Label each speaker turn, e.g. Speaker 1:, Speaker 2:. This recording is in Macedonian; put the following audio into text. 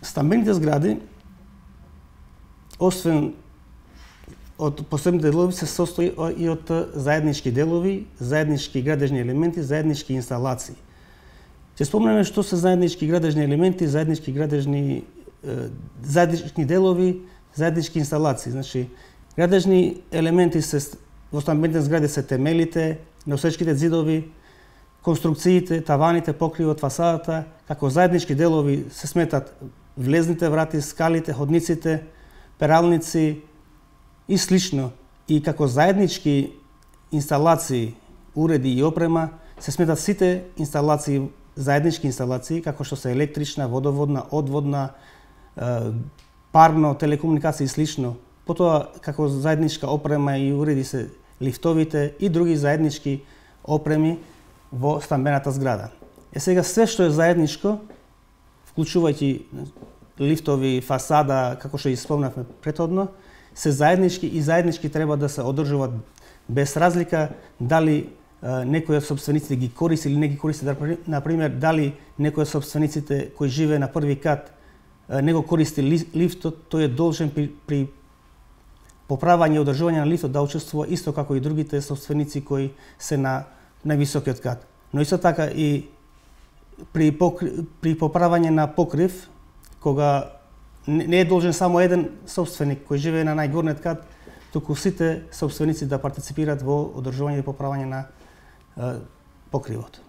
Speaker 1: Стамбените згради, освен од посебните делови, се состои и од заеднички делови, заеднички градежни елементи, заеднички инсталации. Ќе спомнеме што се заеднички градежни елементи, заеднички делови, заеднички инсталации. Значи, градежни елементи во стамбените згради се темелите, носечките зидови, конструкциите, таваните, покривот, фасадата, како заеднички делови се сметат влезните врати, скалите, ходниците, пералници и слично. И како заеднички инсталации, уреди и опрема се сметат сите инсталации, заеднички инсталации, како што се електрична, водоводна, одводна, парно, телекомуникација и слично. Потоа, како заедничка опрема и уреди се лифтовите и други заеднички опреми во стамбената зграда. Сега све што е заедничко, вклучувајќи лифтови, фасада, како што и спомнавме претhodно, се заеднички и заеднички треба да се одржуваат без разлика дали некој од собствениците ги користи или не ги користи. Например, дали некој од собствениците кој живее на први кат не го користи лифтот, тој е должен при поправање и одржување на лифтот да учествува исто како и другите собственици кои се на највисокиот кат. Но исто така и при поправање на покрив, кога не е должен само еден собственик кој живее на најгорниот кат, туку сите собственици да партиципираат во одржување и поправање на покривот.